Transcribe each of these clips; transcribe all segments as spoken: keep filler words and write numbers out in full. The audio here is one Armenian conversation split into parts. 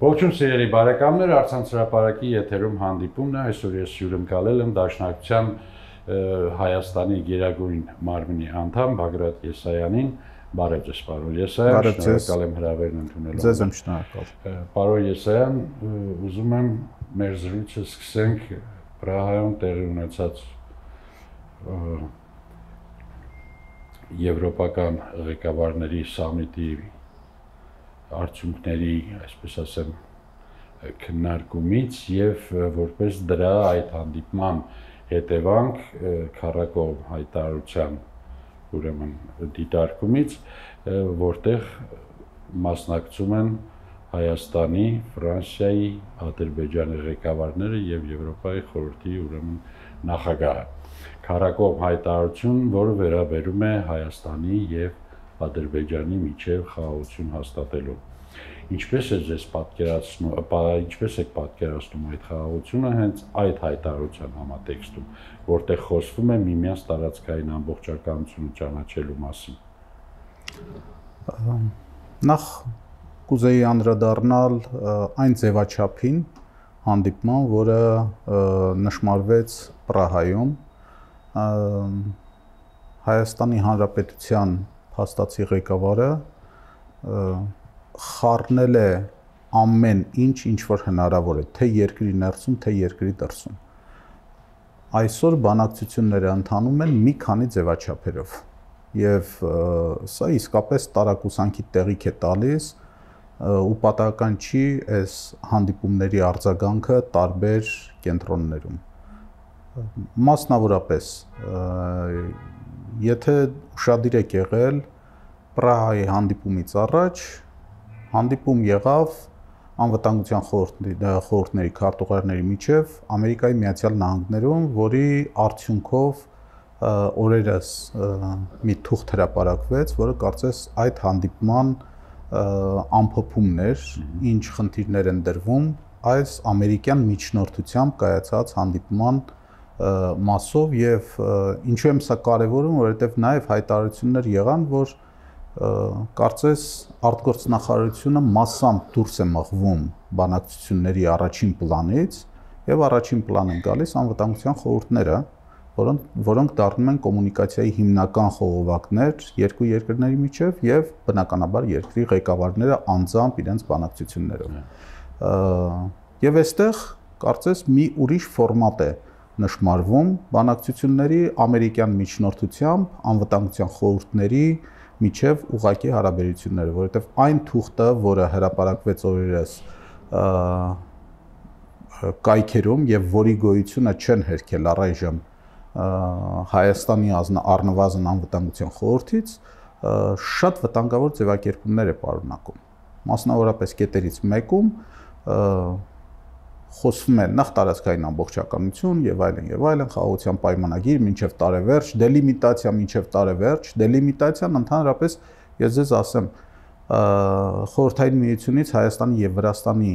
Ողջույն սիրելի բարեկամներ, Արցանց հրապարակի եթերում հանդիպումն է, այսօր ես հյուրընկալել եմ Դաշնակցության Հայաստանի Գերագույն մարմնի անդամ Բագրատ Եսայանին, բարև ձեզ պարոն Եսայան, շնորհակալ եմ հրավերն ընդունելու։ Ձեզ եմ շնորհակալ։ Պարոն Եսայան, ուզում եմ մեր զրույցը սկսենք Պրահայում տեղի ունեցած եվրոպական ղեկավարների սամիտի արդյունքների, այսպես ասեմ, քննարկումից եւ որպես դրա այդ հանդիպման հետևանք քառակողմ հայտարարության ուրեմն դիտարկումից, որտեղ մասնակցում են Հայաստանի, Ֆրանսիայի, Ադրբեջանի ղեկավարները եւ Եվրոպայի խորհրդի ուրեմն նախագահը։ Քառակողմ հայտարարություն, որը վերաբերում է Հայաստանի եւ Ադրբեջանի միջև խաղաղություն հաստատելու։ Ինչպես է ձեզ պատկերացնում, ինչպես եք պատկերացնում այդ խաղաղությունը հենց այդ հայտարարության համատեքստում, որտեղ խոսվում է միմյանց տարածքային ամբողջականությունը ճանաչելու մասին։ Նախ կուզեի անդրադառնալ այն ձևաչափին հանդիպման, որը նշմարվեց Պրահայում Հայաստանի Հանրապետության փաստացի ղեկավարը խառնել է ամեն ինչ, ինչ որ հնարավոր է, թե երկրի ներսում, թե երկրի դրսում։ Այսօր բանակցությունները ընթանում են մի քանի ձևաչափերով եւ սա իսկապես տարակուսանքի տեղիք է տալիս ու պատահական չի այս հանդիպումների արձագանքը տարբեր կենտրոններում։ Մասնավորապես, եթե ուշադիր եք եղել Պրահայի հանդիպումից առաջ, հանդիպում եղավ անվտանգության խորհրդների քարտուղարների միջև Ամերիկայի Միացյալ Նահանգներում, որի արդյունքով օրերս մի թուղթ հրապարակվեց, որը կարծես այդ հանդիպման ամփոփումն էր, ինչ խնդիրներ են դրվում այս ամերիկյան միջնորդությամբ կայացած հանդիպման մասով եւ ինչու եմ սա կարեւորում, որովհետեւ նաեւ հայտարարություններ եղան, որ կարծես արտգործնախարարությունը massամբ դուրս է մղվում բանակցությունների առաջին պլանից եւ առաջին պլան են գալիս անվտանգության խորհուրդները, որոնք որոնք դառնում են կոմունիկացիայի հիմնական խողովակներ երկու երկրների միջև եւ բնականաբար երկրի ղեկավարները անձամբ իրենց բանակցություններով։ Եվ այստեղ կարծես մի ուրիշ ֆորմատ է նշմարվում բանակցությունների ամերիկյան միջնորդությամբ անվտանգության խորհուրդների միջև ուղղակի հարաբերությունները, որովհետև այն թուղթը, որը հրապարակվեց օրերս կայքերում եւ որի գոյությունը չեն հերքել առայժմ Հայաստանի առնվազն անվտանգության խորհրդից, շատ վտանգավոր ձևակերպումներ է պարունակում։ Մասնավորապես կետերից մեկում խոսվում է նախ տարածքային ամբողջականություն եւ այլն եւ այլն, խաղաղության պայմանագիր մինչեւ տարեվերջ, դելիմիտացիա մինչեւ տարեվերջ, դելիմիտացիան ընդհանրապես ես ձեզ ասեմ, խորհրդային միությունից Հայաստանի եւ Վրաստանի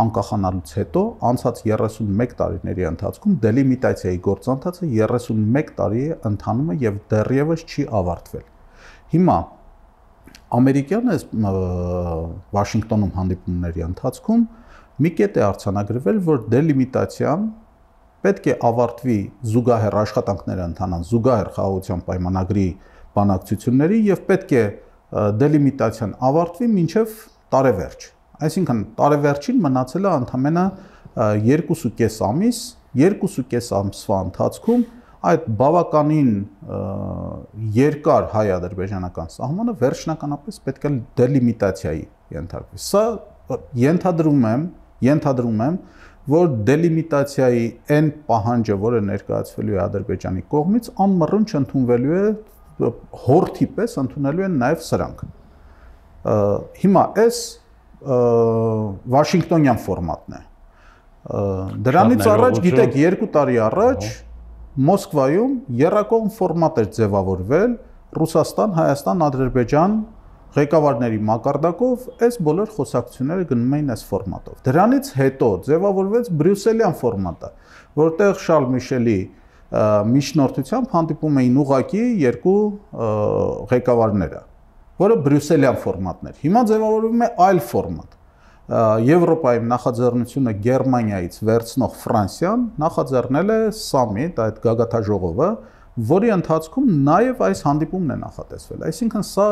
անկախանալուց հետո անցած երեսունմեկ տարիների ընթացքում դելիմիտացիայի գործընթացը երեսունմեկ տարի է ընթանում է եւ դեռևս չի ավարտվել։ Հիմա ամերիկյան Վաշինգտոնում հանդիպումների ընթացքում մի կետ է արձանագրվել, որ դելիմիտացիան պետք է ավարտվի զուգահեռ աշխատանքները ընթանան զուգահեռ խաղաղության պայմանագրի բանակցությունների եւ պետք է դելիմիտացիան ավարտվի մինչեւ տարեվերջ։ Այսինքն տարեվերջին մնացել է ընդամենը երկուսուկես ամիս, երկուսուկես ամսվա ընթացքում այդ բավականին երկար հայ-ադրբեջանական սահմանը վերջնականապես պետք է դելիմիտացիայի ենթարկվի։ Սա ենթադրում եմ, ենթադրում եմ, որ դելիմիտացիայի այն պահանջը, որը ներկայացվելու է Ադրբեջանի կողմից, անմռունչ ընդունվելու է հորթի պես ընդունելու են նաև սրանք։ Հիմա այս Վաշինգտոնյան ֆորմատն է։ Դրանից առաջ, գիտեք, երկու տարի առաջ Մոսկվայում եռակողմ ֆորմատ էր ձևավորվել Ռուսաստան, Հայաստան, Ադրբեջան ղեկավարների մակարդակով այս բոլոր խոսակցությունները գնում էին այս ֆորմատով։ Դրանից հետո ձևավորվեց բրյուսելյան ֆորմատը, որտեղ Շարլ Միշելի միջնորդությամբ հանդիպում էին ուղղակի երկու ղեկավարները, որը բրյուսելյան ֆորմատն էր։ Հիմա ձևավորվում է այլ ֆորմատ, Եվրոպայի նախաձեռնությունը Գերմանիայից վերցնող Ֆրանսիան նախաձեռնել է սամիտ, այդ գագաթաժողովը, որի ընթացքում նաև այս հանդիպումն է նախատեսվել։ Այսինքն սա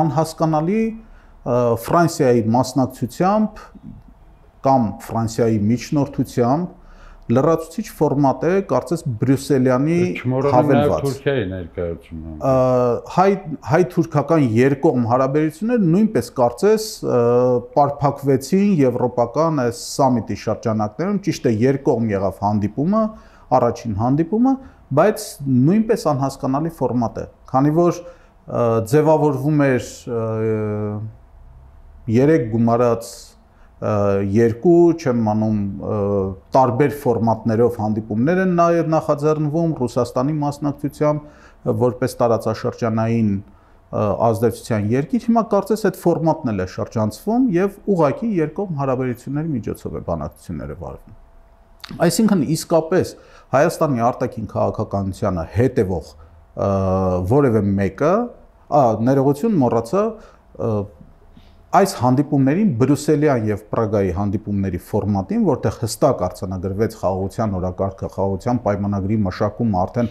անհասկանալի Ֆրանսիայի մասնակցությամբ կամ Ֆրանսիայի միջնորդությամբ լրացուցիչ ֆորմատ է, կարծես Բրյուսելյանի հավելված։ Թուրքիայի ներկայությունը։ Հայ-թուրքական երկկողմ հարաբերությունները նույնպես կարծես պարփակվեցին եվրոպական այս սամիտի շրջանակներում, ճիշտ է, երկկողմ եղավ հանդիպումը, առաջին հանդիպումը, բայց նույնպես անհասկանալի ֆորմատ է, քանի որ ձևավորվում էր երեք գումարած երկու, չեմ անում, տարբեր ֆորմատներով հանդիպումներ են նաև նախաձեռնվում Ռուսաստանի մասնակցությամբ որպես տարածաշրջանային ազդեցության երկիր, հիմա կարծես այդ ֆորմատն էլ է շրջանցվում եւ ուղղակի երկկողմ հարաբերությունների միջոցով է բանակցությունները վարվում։ Այսինքն իսկապես Հայաստանի արտաքին քաղաքականությանը հետևող որևէ մեկը, ներողություն մոռացա, այս հանդիպումներին Բրյուսելյան եւ Պրագայի հանդիպումների ֆորմատին, որտեղ հստակ արձանագրվեց խաղաղության օրակարգը, խաղաղության պայմանագրի մշակումը, արդեն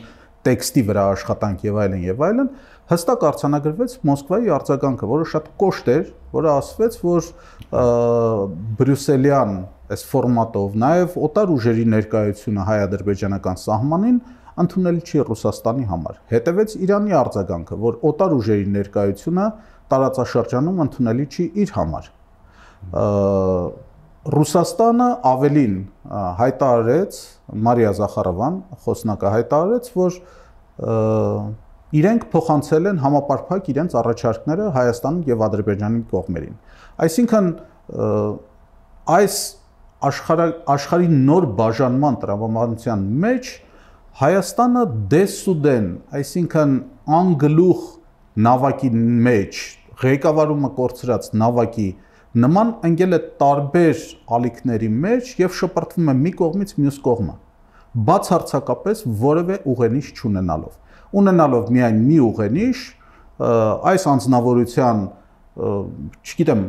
տեքստի վրա աշխատանք եւ այլն եւ այլն, հստակ արձանագրվեց Մոսկվայի արձագանքը, որը շատ կոշտ էր, որը ասվեց, որ Բրյուսելյան այս ֆորմատով նաեւ օտար ուժերի ներկայությունը հայ-ադրբեջանական սահմանին ընդունելի չի Ռուսաստանի համար։ Հետևեց Իրանի արձագանքը, որ օտար ուժերի ներկայությունը տարածաշրջանում ընդունելի չի իր համար։ Ռուսաստանը ավելին հայտարարեց, Մարիա Զախարովան խոսնակը հայտարարեց, որ իրենք փոխանցել են համապարփակ իրենց առաջարկները Հայաստան եւ Ադրբեջանի կողմերին։ Այսինքն այս աշխարհի նոր բաժանման տրամաբանության մեջ Հայաստանը դեսուդեն, այսինքն անգլուխ նավակի մեջ, ղեկավարումը կորցրած նավակի նման ընկել է տարբեր ալիքների մեջ եւ շպրտվում է մի կողմից մյուս կողմը, բացարձակապես որևէ ուղենիշ չունենալով։ Ունենալով միայն մի ուղենիշ, այս անձնավորության, չգիտեմ,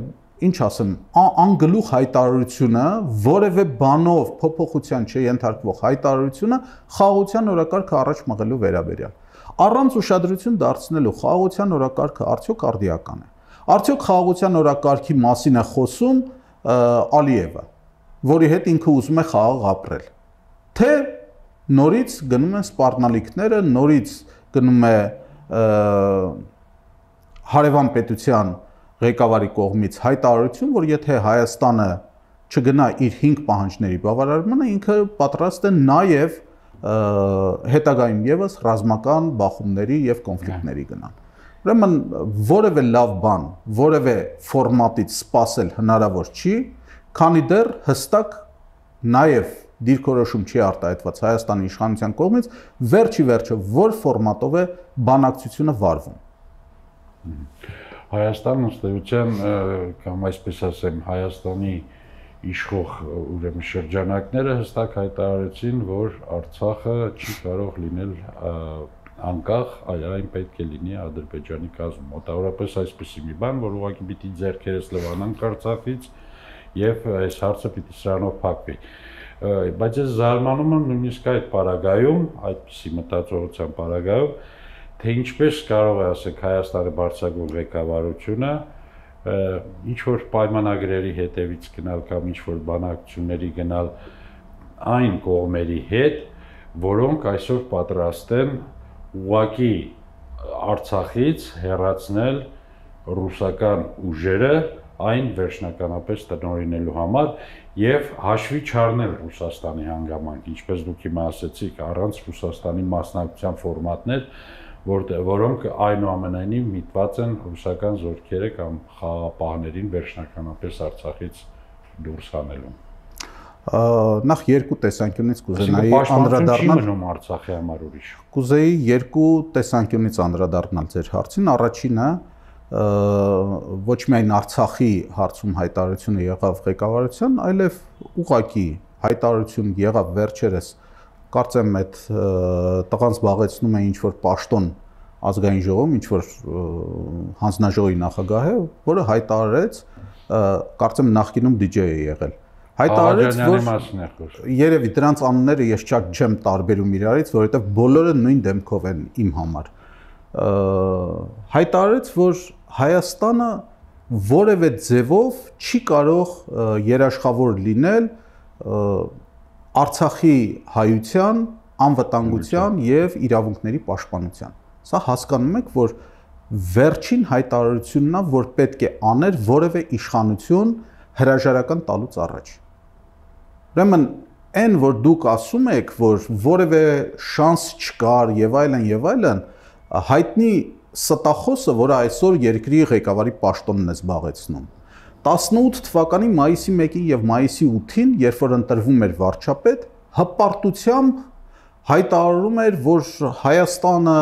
ինչ ասեմ, անգլուխ հայտարարությունը, որևէ բանով փոփոխության չենթարկվող հայտարարությունը խաղաղության օրակարգը առաջ մղելու վերաբերյալ։ Առանց ուշադրություն դարձնելու խաղաղության օրակարգը արդյոք արդիական է։ Արդյոք խաղաղության օրակարգի մասին է խոսում Ալիևը, որի հետ ինքը ուզում է խաղաղ ապրել։ Թե նորից գնում են սպառնալիքները, նորից գնում է հարևան պետության ղեկավարի կողմից հայտարարություն, որ եթե Հայաստանը չգնա իր հինգ պահանջների բավարարմանը, ինքը պատրաստ է նաև հետագայում եւս ռազմական բախումների եւ կոնֆլիկտների գնան։ Ուրեմն որևէ լավ բան, որևէ ֆորմատից սпасել հնարավոր չի, քանի դեռ հստակ նաև դիրքորոշում չի արտահայտված Հայաստանի իշխանության կողմից, վերջի վերջը որ ֆորմատով է բանակցությունը վարվում։ Հայաստանը ըստ էության, կամ այսպես ասեմ, Հայաստանի իշխող ուրեմն շրջանակները հստակ հայտարարեցին, որ Արցախը չի կարող լինել անկախ, այլ այն պետք է լինի Ադրբեջանի կազմում։ Մոտավորապես այսպեսի մի բան, որ ուղղակի պիտի ձեռքերս լվանանք Արցախից եւ այս հարցը պիտի սրանով փակվի։ Բայց ես զարմանում եմ նույնիսկ այդ պարագայում, այդպիսի մտածողության պարագայում, թե ինչպես կարող է, ասենք, Հայաստանի բարձրագույն ղեկավարությունը ինչ որ պայմանագրերի հետևից գնալ կամ ինչ որ բանակցությունների գնալ այն կողմերի հետ, որոնք այսօր պատրաստ են ուղղակի Արցախից հեռացնել ռուսական ուժերը այն վերջնականապես տնօրինելու համար եւ հաշվի չառնել Ռուսաստանի հանգամանք, ինչպես դուք հիմա ասացիք, առանց Ռուսաստանի մասնակցության ֆորմատներ, որոնք այնուամենայնիվ միտված են ռուսական զորքերը կամ խաղաղապահներին վերջնականապես Արցախից դուրս հանելու։ Նախ երկու տեսանկյունից կուզենայի անդրադառնալ մնում Արցախի համար ուրիշ։ Կուզեի երկու տեսանկյունից անդրադառնալ ձեր հարցին։ Առաջինը ոչ միայն Արցախի հարցում հայտարարությունը եղավ ղեկավարության, այլև ուղղակի հայտարարություն եղավ վերջերս, կարծեմ այդ տղան զբաղեցնում է ինչ որ պաշտոն ազգային ժողովում ինչ որ հանձնաժողովի նախագահ է, որը հայտարարեց, կարծեմ նախկինում դիջեյ է եղել։ Հայտարարեց, որ երևի դրանց անունները ես շատ չեմ տարբերում իրարից, որովհետև բոլորը նույն դեմքով են իմ համար։ Հայտարարեց, որ Հայաստանը որևէ ձևով չի կարող երաշխավոր լինել Արցախի հայության, անվտանգության եւ իրավունքների պաշտպանության։ Սա հասկանում եք, որ վերջին հայտարարությունն է, որ պետք է աներ որևէ իշխանություն հրաժարական տալուց առաջ։ Ուրեմն այն, որ դուք ասում եք, որ որևէ շանս չկար եւ այլն եւ այլն, հայտնի ստախոսը, որը այսօր երկրի ղեկավարի պաշտոնն է զբաղեցնում, տասնութ թվականի մայիսի մեկին եւ մայիսի ութին, երբ որ ընտրվում էր վարչապետ, հպարտությամբ հայտարարում էր, որ Հայաստանը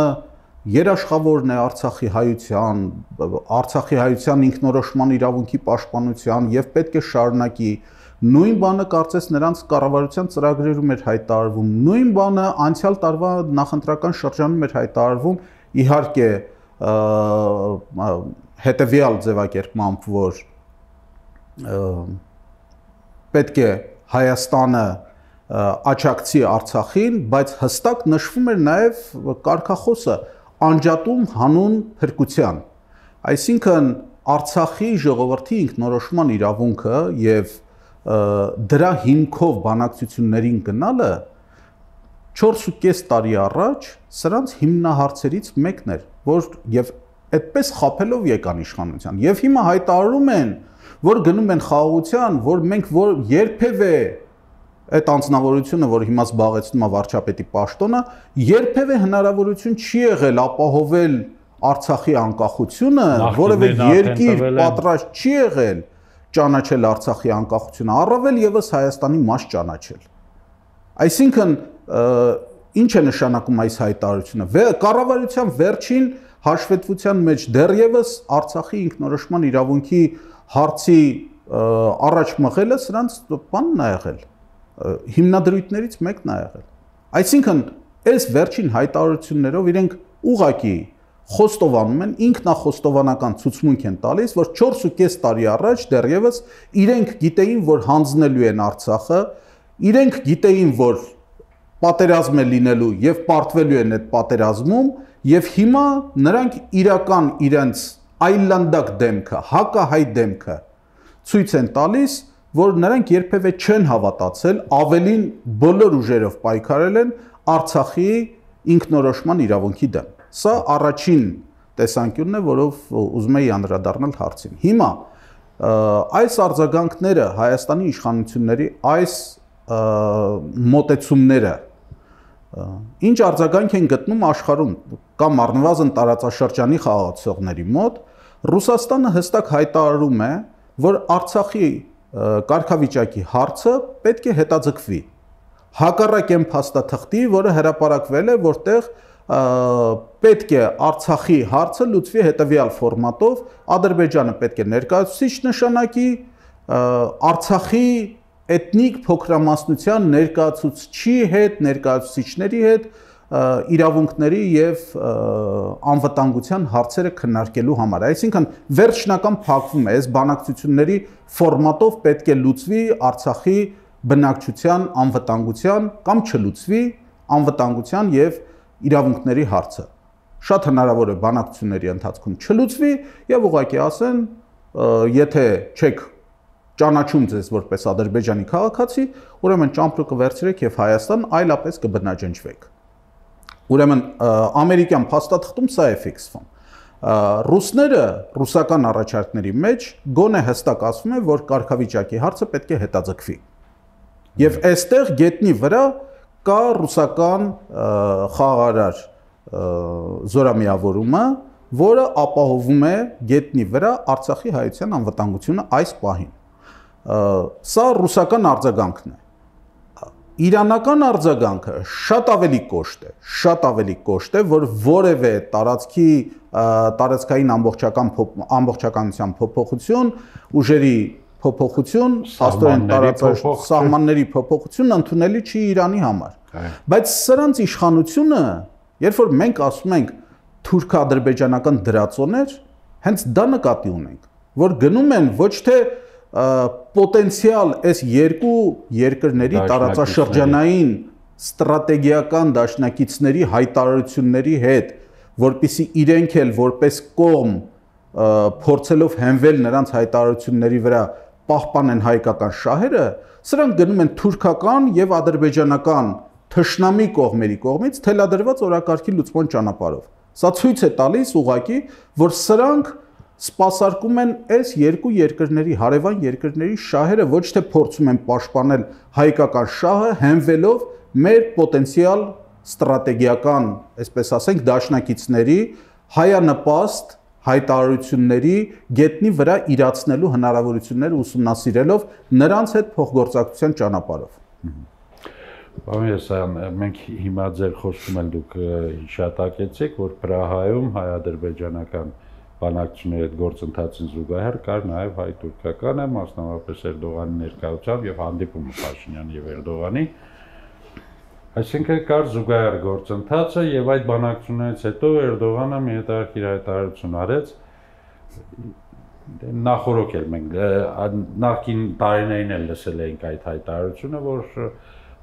երաշխավորն է Արցախի հայության, Արցախի հայության ինքնորոշման իրավունքի պաշտպանության եւ պետք է շարունակի։ Նույն բանը կարծես նրանց կառավարության ծրագրերում էր հայտարարվում, նույն բանը անցյալ տարվա նախընտրական շրջանում էր հայտարարվում, իհարկե հետեւյալ ձևակերպմամբ, որ պետք է Հայաստանը աջակցի Արցախին, բայց հստակ նշվում էր նաեւ կարգախոսը անջատում հանուն փրկության։ Այսինքն Արցախի ժողովրդի ինքնորոշման իրավունքը եւ դրա հիմքով բանակցություններին գնալը չորսուկես տարի առաջ սրանց հիմնահարցերից մեկն էր, որ եւ այդպես խափելով եկան իշխանության։ Եվ հիմա հայտարարում են, որ գնում են խաղաղության, որ մենք որ երբևէ այդ անձնավորությունը, որ հիմա զբաղեցնում է վարչապետի պաշտոնը, երբևէ հնարավորություն չի եղել ապահովել Արցախի անկախությունը, որևէ երկիր պատրաստ չի եղել ճանաչել Արցախի անկախությունը, առավել եւս Հայաստանի մաս ճանաչել։ Այսինքն ինչ է նշանակում այս հայտարարությունը։ Կառավարության վերջին հաշվետվության մեջ դեռևս Արցախի ինքնորոշման իրավունքի հարցի առաջ մղելը սրանց բանն է եղել, հիմնադրույթներից մեկն է եղել։ Այսինքն այս վերջին հայտարարություններով իրենք ուղղակի խոստովանում են, ինքնախոստովանական ցուցմունք են տալիս, որ չորսուկես տարի առաջ դեռևս իրենք գիտեին, որ հանձնելու են Արցախը, իրենք գիտեին, որ պատերազմ է լինելու եւ պարտվելու են այդ պատերազմում, եւ հիմա նրանք իրական իրենց այլանդակ դեմքը, հակահայ դեմքը ցույց են տալիս, որ նրանք երբևէ չեն հավատացել, ավելին բոլոր ուժերով պայքարել են Արցախի ինքնորոշման իրավունքի դեմ։ Սա առաջին տեսանկյունն է, որով ուզում եի անդրադառնալ հարցին։ Հիմա այս արձագանքները Հայաստանի իշխանությունների այս մոտեցումները ինչ արձագանք են գտնում աշխարհում կամ առնվազն տարածաշրջանի խաղացողների մոտ, Ռուսաստանը հստակ հայտարարում է, որ Արցախի կարգավիճակի հարցը պետք է հետաձգվի։ Հակառակ այն փաստաթղթի, որը հրապարակվել է, որտեղ պետք է Արցախի հարցը լուծվի հետևյալ ֆորմատով, Ադրբեջանը պետք է ներկայացուցիչ նշանակի, Արցախի էթնիկ փոքրամասնության ներկայացուցչի հետ, ներկայացուցիչների հետ իրավունքների եւ անվտանգության հարցերը քննարկելու համար։ Այսինքն վերջնական փակվում է այս բանակցությունների ֆորմատով պետք է լուծվի Արցախի բնակչության անվտանգության կամ չլուծվի անվտանգության եւ իրավունքների հարցը։ Շատ հնարավոր է բանակցությունների ընթացքում չլուծվի եւ ուղղակի ասեն, եթե չեք ճանաչում ձեզ որպես Ադրբեջանի քաղաքացի, ուրեմն ճամպրուկը վերցրեք եւ Հայաստան այլապես կբնաջնջվեք։ Ուրեմն ամերիկյան փաստաթղթում սա է ֆիքսվում։ Ռուսները ռուսական առաջարկների մեջ գոնե հստակ ասում են, որ կարգավիճակի հարցը պետք է հետաձգվի։ Եվ այստեղ գետնի վրա կա ռուսական խաղաղարար զորամիավորումը, որը ապահովում է գետնի վրա Արցախի հայության անվտանգությունը այս պահին։ Սա ռուսական արձագանքն է։ Իրանական արձագանքը շատ ավելի կոշտ է, շատ ավելի կոշտ է, որ որևէ տարածքի տարածքային ամբողջական ամբողջականության փոփոխություն, ուժերի փոփոխություն, աստորեն տարածաշրջանի սահմանների փոփոխություն ընդունելի չի Իրանի համար։ Բայց սրանց իշխանությունը, երբ որ մենք ասում ենք թուրք-ադրբեջանական դրածոներ, հենց դա նկատի ունենք, որ գնում են ոչ թե պոտենցիալ այս երկու երկրների տարածաշրջանային ստրատեգիական դաշնակիցների հայտարարությունների հետ, որպեսզի իրենք էլ որպես կողմ փորձելով հենվել նրանց հայտարարությունների վրա պահպանեն հայկական շահերը, սրանք գնում են թուրքական եւ ադրբեջանական թշնամի կողմերի կողմից թելադրված օրակարգի լուծման ճանապարհով։ Սա ցույց է տալիս ուղղակի, որ սրանք սպասարկում են այս երկու երկրների, հարևան երկրների շահերը, ոչ թե փորձում են պաշտպանել հայկական շահը, հենվելով մեր պոտենցիալ ստրատեգիական, այսպես ասենք, դաշնակիցների հայանպաստ հայտարարությունների գետնի վրա իրացնելու հնարավորությունները ուսումնասիրելով նրանց հետ փոխգործակցության ճանապարհով։ Պարոն Եսայան, մենք հիմա ձեր խոսքում են դուք հիշատակեցիք, որ Պրահայում հայ-ադրբեջանական բանակցությունների հետ գործընթացին զուգահեռ կար նաև հայ-թուրքականը, մասնավորապես Էրդողանի ներկայությամբ եւ հանդիպումը Փաշինյանի եւ Էրդողանի։ Այսինքն կար զուգահեռ գործընթացը եւ այդ բանակցություններից հետո Էրդողանը մի հետաքրքիր հայտարարություն արեց, նախորոք էլ մենք նախկին տարիներին էլ լսել էինք այդ հայտարարությունը, որ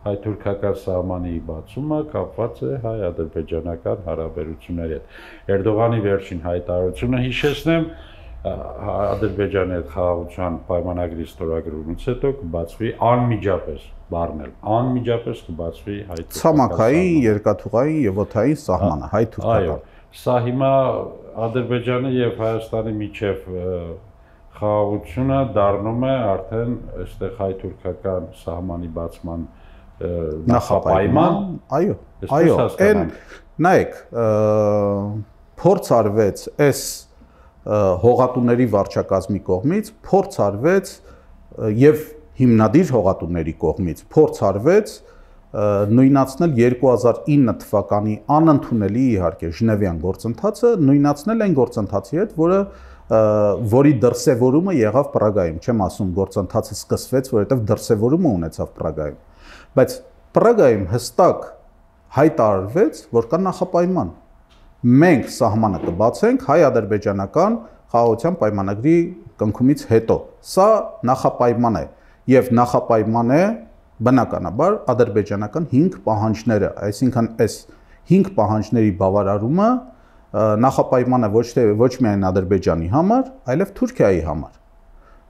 հայ-թուրքական սահմանի բացումը կապված է հայ-ադրբեջանական հարաբերությունների հետ։ Էրդողանի վերջին հայտարարությունը հիշեցնեմ, Ադրբեջանի հետ խաղաղության պայմանագրի ստորագրումից հետո կբացվի անմիջապես, բառն էլ անմիջապես կբացվի հայ-թուրքական ցամաքային, երկաթուղային եւ օդային սահմանը, հայ-թուրքական։ Այո, սա հիմա Ադրբեջանի եւ Հայաստանի միջև խաղաղությունը դառնում է արդեն այստեղ հայ-թուրքական սահմանի բացման նախապայման։ Այո, այո, այն նայեք, փորձ արվեց այս հողատուների վարչակազմի կողմից, փորձ արվեց եւ հիմնադիր հողատուների կողմից փորձ արվեց նույնացնել երկու հազար ինը թվականի անընդունելի իհարկե Ժնևյան գործընթացը, նույնացնել այն գործընթացի հետ, որը որի դրսևորումը եղավ Պրագայում, չեմ ասում գործընթացը սկսվեց, որովհետեւ դրսևորումը ունեցավ Պրագայում, բայց Պրագայում հստակ հայտարարվեց, որ կա նախապայման։ Մենք սահմանը կբացենք հայ-ադրբեջանական խաղաղության պայմանագրի կնքումից հետո։ Սա նախապայման է եւ նախապայման է բնականաբար ադրբեջանական հինգ պահանջները, այսինքն այս հինգ պահանջների բավարարումը նախապայման է ոչ թե ոչ միայն Ադրբեջանի համար, այլև Թուրքիայի համար,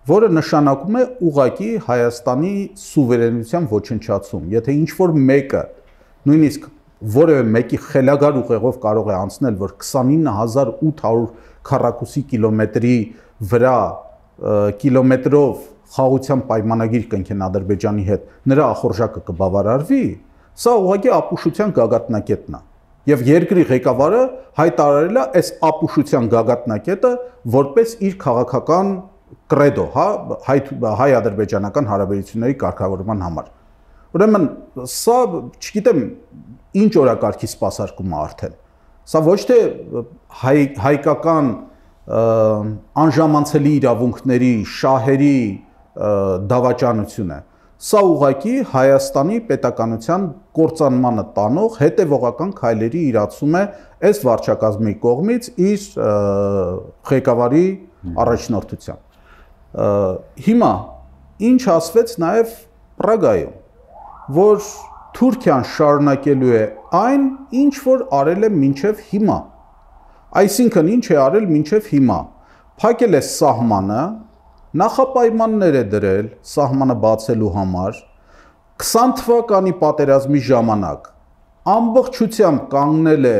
որը նշանակում է ուղղակի Հայաստանի սուվերենության ոչնչացում։ Եթե ինչ-որ մեկը նույնիսկ որևէ մեկի խելագար ուղեղով կարող է անցնել, որ քսանինը հազար ութ հարյուր քառակուսի կիլոմետրի վրա կիլոմետրով խաղաղության պայմանագիր կնքեն Ադրբեջանի հետ, նրա ախորժակը կբավարարվի, սա ուղղակի ապուշության գագաթնակետն է։ Եվ երկրի ղեկավարը հայտարարել է այս ապուշության գագաթնակետը որպես իր քաղաքական կրեդո, հա, հայ-ադրբեջանական հարաբերությունների կարգավորման համար։ Ուրեմն սա, չգիտեմ, ինչ օրակարգի սպասարկում է արդեն։ Սա ոչ թե հայ, հայկական անժամանցելի իրավունքների, շահերի դավաճանություն է։ Սա ուղղակի Հայաստանի պետականության կործանմանը տանող հետևողական քայլերի իրացում է այս վարչակազմի կողմից իր ղեկավարի առաջնորդությամբ։ Հիմա ինչ ասվեց նաև Պրագայում, որ Թուրքիան շարունակելու է այն, ինչ որ արել է մինչև հիմա։ Այսինքն ինչ է արել մինչև հիմա։ Փակել է սահմանը, նախապայմաններ է դրել սահմանը բացելու համար, քսան թվականի պատերազմի ժամանակ ամբողջությամբ կանգնել է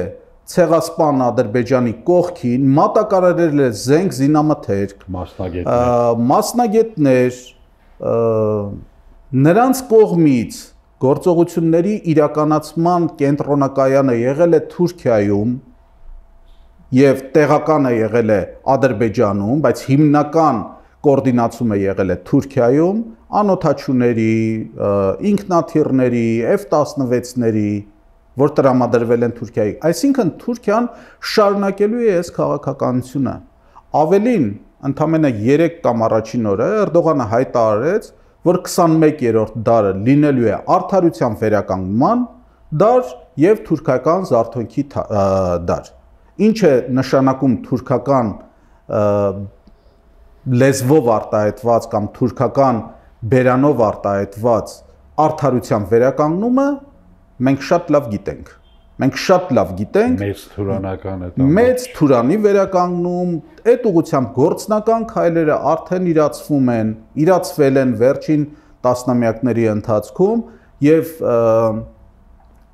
ցեղասպան Ադրբեջանի կողքին, մատակարարել է զենք զինամթերք, մասնագետներ, մասնագետներ, նրանց կողմից գործողությունների իրականացման կենտրոնակայանը եղել է Թուրքիայում եւ տեղականը եղել է Ադրբեջանում, բայց հիմնական կոորդինացումը եղել է Թուրքիայում, անօթաչուների, ինքնաթիռների, F տասնվեցների, որ տրամադրվել են Թուրքիայի։ Այսինքն Թուրքիան շարունակելու է այս քաղաքականությունը։ Ավելին, ընդամենը երեք կամ առաջին օրը Էրդողանը հայտարարեց, որ քսանմեկերորդ դարը լինելու է արդարության վերականգնման դար եւ թուրքական զարթոնքի դար։ Ինչ է նշանակում թուրքական լեզվով արտահայտված կամ թուրքական բերանով արտահայտված արդարության վերականգնումը, մենք շատ լավ գիտենք։ Մենք շատ լավ գիտենք մեծ թուրանական է մեծ թուրանի վերականգնում, այդ ուղղությամբ գործնական քայլերը արդեն իրացվում են, իրացվել են վերջին տասնամյակների ընթացքում եւ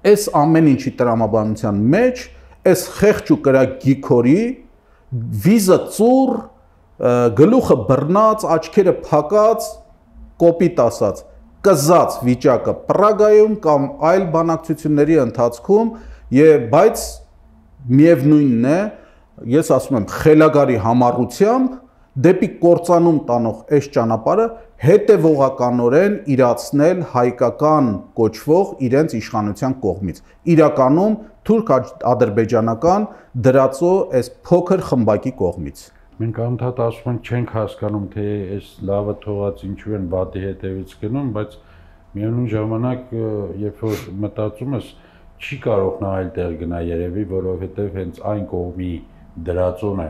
այս ամեն ինչի տրամաբանության մեջ այս խեղճ ու կրակ գիքորի վիզը ծուռ, գլուխը բռնած, աչքերը փակած, կոպիտ ասած կզած վիճակը Պրագայում կամ այլ բանակցությունների ընթացքում եւ բայց միևնույնն է, ես ասում եմ խելագարի համառությամբ դեպի կործանում տանող այս ճանապարհը հետևողականորեն իրացնել հայկական կոչվող իրենց իշխանության կողմից։ Իրականում թուրք-ադրբեջանական դրածո այս փոքր խմբակի կողմից։ Մենք անդադ ասում ենք չենք հասկանում, թե այս լավը թողած ինչու են բատի հետևից գնում, բայց միևնույն ժամանակ, երբ որ մտածում ես, չի կարող նա այլ տեղ գնա երևի, որովհետև հենց այն կողմի դրածոն է,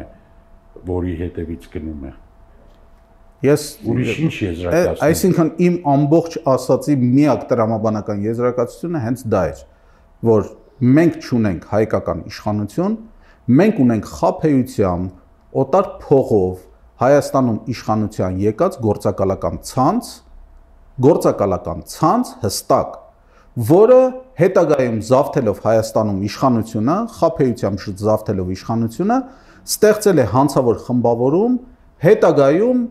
որի հետևից գնում է։ Ես ուրիշ ինչ եզրակացություն։ Այսինքն իմ ամբողջ ասացի միակ տրամաբանական եզրակացությունը հենց դա էր, որ մենք չունենք հայկական իշխանություն, մենք ունենք խաբեությամբ, օտար փողով Հայաստանում իշխանության եկած գործակալական ցանց, գործակալական ցանց հստակ, որը հետագայում զավթելով Հայաստանում իշխանությունը, խաբեությամբ զավթելով իշխանությունը, ստեղծել է հանցավոր խմբավորում, հետագայում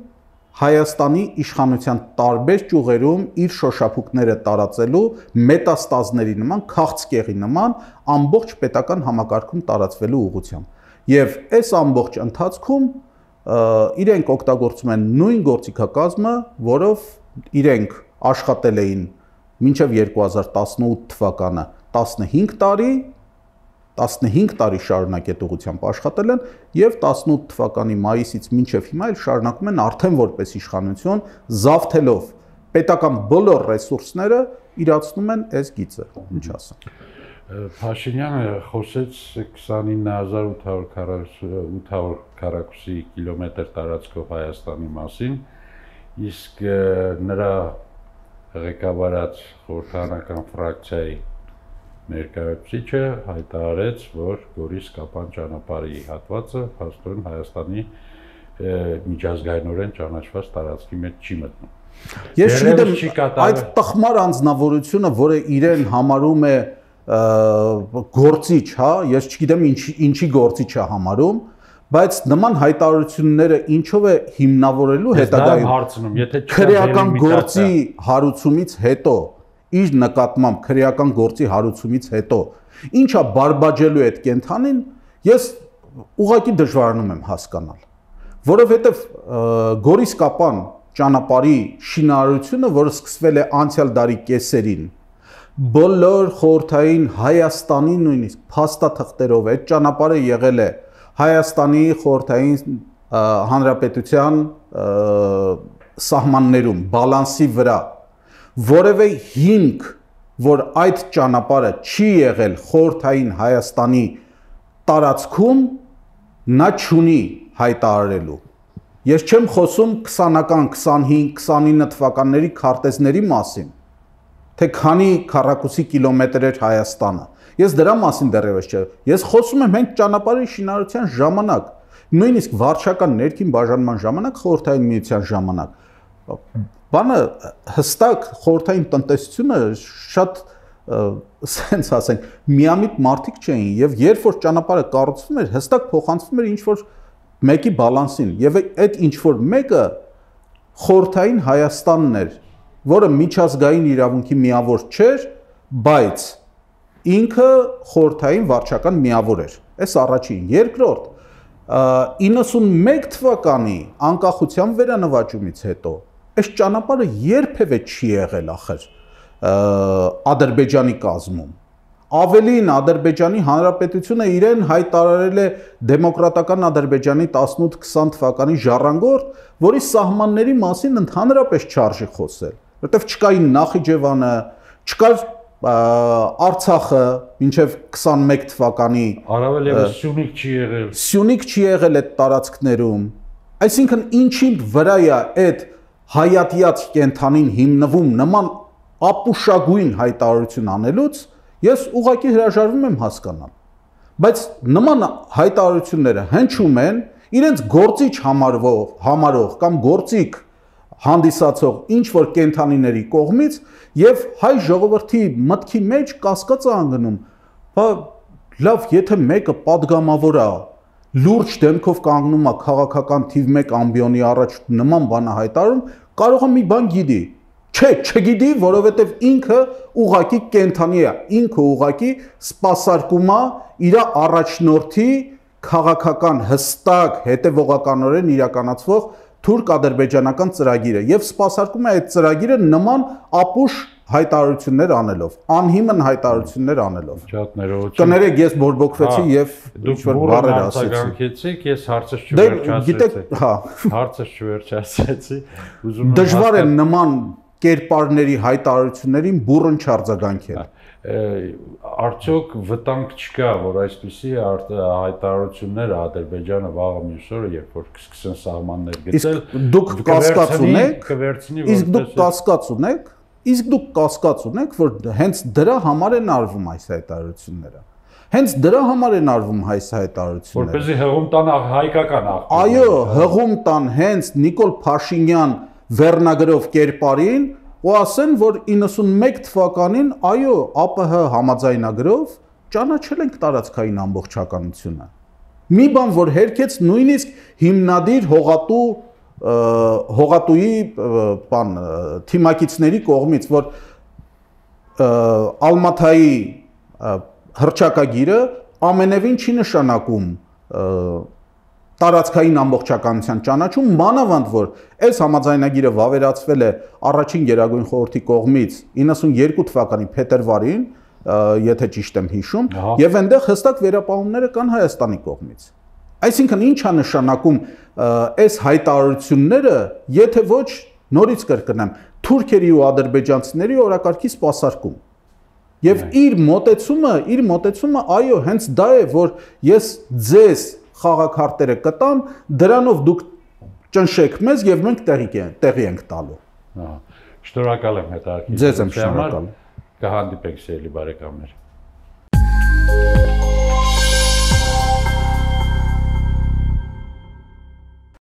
Հայաստանի իշխանության տարբեր ճյուղերում իր շոշափուկները տարածելու մետաստազների նման, քաղցկեղի նման ամբողջ պետական համակարգում տարածվելու ուղղությամբ։ Եվ այս ամբողջ ընթացքում իրենք օգտագործում են նույն գործիքակազմը, որով իրենք աշխատել էին մինչև երկու հազար տասնութ թվականը տասնհինգ տարի, տասնհինգ տարի շարունակ այդ ուղղությամբ աշխատել են եւ տասնութ թվականի մայիսից մինչև հիմա էլ շարունակում են արդեն որպես իշխանություն, զավթելով պետական բոլոր ռեսուրսները, իրացնում են այս գիծը, ինչ ասեմ։ Փաշինյանը խոսեց քսանինը հազար ութ հարյուր քառակուսի կիլոմետր տարածքով Հայաստանի մասին, իսկ նրա ղեկավարած խորհրդարանական ֆրակցիայի ներկայացուցիչը հայտարարեց, որ Գորիս-Կապան ճանապարհի հատվածը փաստորեն Հայաստանի միջազգայինորեն ճանաչված տարածքի մեջ չի մտնում։ Ես չգիտեմ այդ տխմար անձնավորությունը, որը իրեն համարում է գործիչ, հա, ես չգիտեմ ինչի գործիչ է համարում, բայց նման հայտարարությունները ինչով է հիմնավորելու հետագայում քրեական գործի հարուցումից հետո, իր նկատմամբ քրեական գործի հարուցումից հետո, ինչա բարբաջելու այդ կենթանին, ես ուղղակի դժվարանում եմ հասկանալ, որովհետև Գորիս-Կապան ճանապարհի շինարարությունը, որը սկսվել է անցյալ դարի կեսերին, բոլոր խորհրդային Հայաստանի նույնիսկ փաստաթղթերով այդ ճանապարհը եղել է Հայաստանի խորհրդային հանրապետության սահմաններում, բալանսի վրա, որևէ հիմք, որ այդ ճանապարհը չի եղել խորհրդային Հայաստանի տարածքում, նա չունի հայտարարելու։ Ես չեմ խոսում քսանական, քսանհինգ, քսանինը թվականների քարտեզների մասին, թե քանի քառակուսի կիլոմետր էր Հայաստանը։ Ես դրա մասին դեռևս չէ։ Ես խոսում եմ հենց ճանապարհի շինարարության ժամանակ, նույնիսկ վարչական ներքին բաժանման ժամանակ, խորհրդային միության ժամանակ։ Բանը հստակ խորհրդային տնտեսությունը շատ սենց ասենք, միամիտ մարդիկ չէին, եւ երբ որ ճանապարհը կառուցվում էր, հստակ փոխանցվում էր ինչ որ մեկի բալանսին, եւ այդ ինչ որ մեկը խորհրդային Հայաստանն էր, որը միջազգային իրավունքի միավոր չէր, բայց ինքը խորհրդային վարչական միավոր էր։ Այս առաջին, երկրորդ, իննսունմեկ թվականի անկախության վերանվաճումից հետո այս ճանապարհը երբևէ չի եղել ախր Ադրբեջանի կազմում։ Ավելին Ադրբեջանի Հանրապետությունը իրեն հայտարարել է դեմոկրատական Ադրբեջանի տասնութ քսան թվականի ժառանգորդ, որի սահմանների մասին ընդհանրապես չարժի խոսել, որտեղ չկային Նախիջևանը, չկար Արցախը մինչև քսանմեկ թվականի առավել եւս Սյունիք չի եղել։ Սյունիք չի եղել այդ տարածքներում։ Այսինքն ինչի վրա է այդ հայատյաց կենթանին հիմնվում նման ապուշագույն հայտարարություն անելուց, ես ուղղակի հրաժարվում եմ հասկանալ։ Բայց նման հայտարարությունները հնչում են իրենց գործիչ համարվող, համարող կամ գործիք հանդիսացող ինչ որ կենթանիների կողմից եւ հայ ժողովրդի մտքի մեջ կասկած է անգնում, բա լավ, եթե մեկը падգամավոր է, լուրջ դեմքով կանգնում է քաղաքական թիվ մեկ ամբիոնի առաջ նման բան է հայտարարում, կարող է մի բան գիտի։ Չէ, չգիտի, որովհետեւ ինքը ուղակի կենթանի է, ինքը ուղակի սպասարկում է իր առաջնորդի քաղաքական հստակ հետևողականորեն իրականացվող թուրք-ադրբեջանական ծրագիրը եւ սպասարկում է այդ ծրագիրը նման ապուշ հայտարարություններ անելով, անհիմն հայտարարություններ անելով։ Շատ ներողություն։ Կներեք, ես բորբոքվեցի եւ ինչ որ բառեր ասեցի։ Ես հարցը չվերջացրեցի։ Հա, հարցը չվերջացրեցի։ Ուզում եմ դժվար է նման կերպարների հայտարարություններին բուրըն չարձագանքել։ Արդյոք վտանգ չկա, որ այսպիսի հայտարարությունները Ադրբեջանը վաղը մյուս օրը, երբ որ կսկսեն սահմաններ գծել, դուք կասկած ունեք, իսկ դուք որպես կասկած ունեք, իսկ դուք կասկած ունեք, որ հենց դրա համար են արվում այս հայտարարությունները։ Հենց դրա համար են արվում այս հայտարարությունները։ Որպեսզի հղում տան հայկական աղբյուր։ Այո, հղում տան հենց Նիկոլ Փաշինյան վերնագրով կերպարին ու ասեն, որ իննսունմեկ թվականին, այո, ԱՊՀ համաձայնագրով ճանաչել ենք տարածքային ամբողջականությունը։ Մի բան, որ հերքեց նույնիսկ հիմնադիր հողատու հողատուի բան թիմակիցների կողմից, որ Ալմաթայի հռչակագիրը ամենևին չի նշանակում տարածքային ամբողջականության ճանաչում, մանավանդ որ այս համաձայնագիրը վավերացվել է առաջին Գերագույն խորհրդի կողմից իննսունյոթ թվականի փետրվարին, եթե ճիշտ եմ հիշում, եւ այնտեղ հստակ վերապահումները կան Հայաստանի կողմից։ Այսինքն ինչ է նշանակում այս հայտարարությունները, եթե ոչ նորից կրկնեմ, թուրքերի ու ադրբեջանցիների օրակարգի սպասարկում։ Եվ իր մոտեցումը, իր մոտեցումը, այո, հենց դա է, որ ես ձեզ խաղաքարտերը կտամ, դրանով դուք ճնշեք մեզ եւ մենք տեղի տեղի ենք տալու։ Շնորհակալ եմ հետաքրքիր։ Ձեզ եմ շնորհակալ։ Կհանդիպենք սիրելի բարեկամներ։